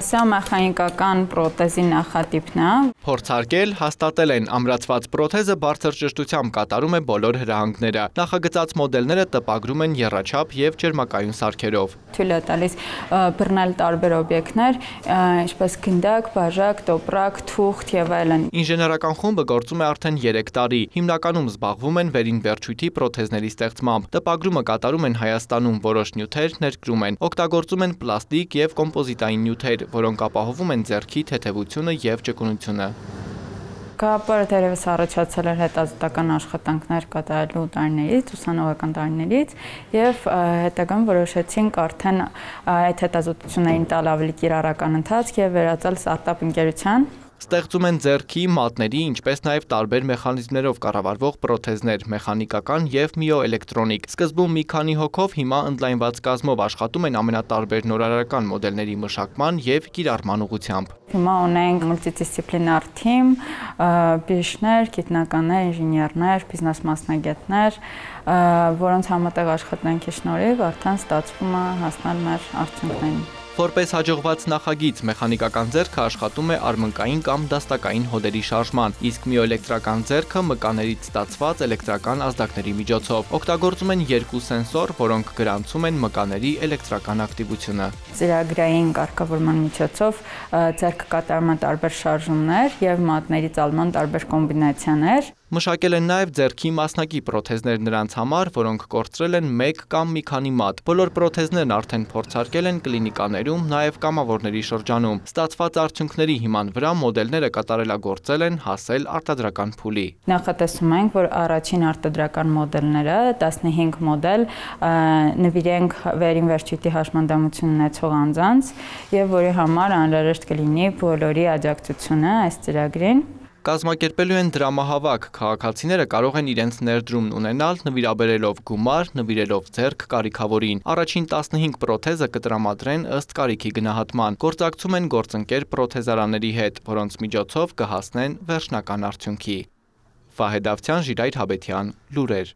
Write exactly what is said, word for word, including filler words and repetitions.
Սա մեխանիկական պրոթեզի նախատիպն է։ Փորձարկել, հաստատել են ամրացված պրոթեզը բարձր ճշտությամբ կատարում է բոլոր հրահանգները։ Նախագծած մոդելները տպագրում են եռաչափ եւ ջերմակայուն սարքերով։ Թույլ է տալիս բռնել տարբեր օբյեկտներ, ինչպես գնդակ, բաժակ, տոպրակ, թուղթ եւ այլն։ Ինժեներական խումբը գործում է արդեն երեք տարի։ Հիմնականում զբաղվում են վերին վերջույթի պրոթեզների ստեղծմամբ։ Տպագրումը կատարում են Հայաստանում, որոշ նյութեր ներկրում են։ Օգտագործում են պլաստիկ եւ կոմպոզիտային նյութեր, որոնք ապահովում են ձեռքի թեթևությունը եւ ճկունությունը։ Գաղափարը դեռևս առաջացել էր հետազոտական աշխատանքներ կատարելու տարիներից, ուսանողական տարիներից եւ հետագայում որոշեցինք արդեն այդ հետազոտություններին տալ ավելի կիրառական ընթացք եւ վերածել ստարտափ ընկերության։ Ստեղծում են ձեռքի, մատների, ինչպես նաև տարբեր մեխանիզմներով կառավարվող պրոթեզներ, մեխանիկական եւ միոէլեկտրոնիկ։ Սկզբում մի քանի հոգով, հիմա ընդլայնված կազմով աշխատում են ամենատարբեր նորարարական մոդելների մշակման եւ կիրառման ուղղությամբ։ Հիմա ունենք մուլտիդիսցիպլինար թիմ, բժիշկներ, գիտնականներ, ինժեներներ, բիզնես մասնագետներ, որոնց համատեղ աշխատանքի շնորհիվ արդեն ստացվում է հասնել մեր արդյունքներին։ Որպես հաջողված նախագիծ, մեխանիկական ձեռքը աշխատում է արմնկային կամ դաստակային հոդերի շարժման, իսկ միոէլեկտրական ձեռքը մկաներից ստացված էլեկտրական ազդակների միջոցով։ Օգտագործում են երկու սենսոր, որոնք գրանցում են մկաների էլեկտրական ակտիվությունը։ Ծրագրային կարգավորման միջոցով ձեռքը կատարում է տարբեր շարժումներ եւ մատների ծալման տարբեր կոմբինացիաներ։ Մշակել են նաև ձեռքի մասնակի պրոթեզներ նրանց համար, որոնք կորցրել են մեկ կամ մի քանի մատ։ Բոլոր պրոթեզներն արդեն փորձարկել են կլինիկաներում, նաև կամավորների շրջանում։ Ստացված արդյունքների հիման վրա մոդելները կատարելագործել են հասել արտադրական փուլի։ Նախատեսում ենք, որ առաջին արտադրական մոդելները տասնհինգ մոդել նվիրենք վերին վերջույթի հաշմանդամություն ունեցող անձանց եւ որի համար անհրաժեշտ կլինի բոլորի աջակցությունը այս ծրագրին։ Կազմակերպելու են դրամահավաք, քաղաքացիները կարող են իրենց ներդրումն ունենալ նվիրաբերելով գումար, նվիրելով ձեռք կարիքավորին։ Առաջին տասնհինգ պրոթեզը կտրամադրեն ըստ կարիքի գնահատման։ Գործակցում են գործընկեր պրոթեզարաների հետ, որոնց միջոցով կհասնեն վերջնական արդյունքի։ Վահե Դավթյան, Ժիրայր Հաբետյան, լուրեր։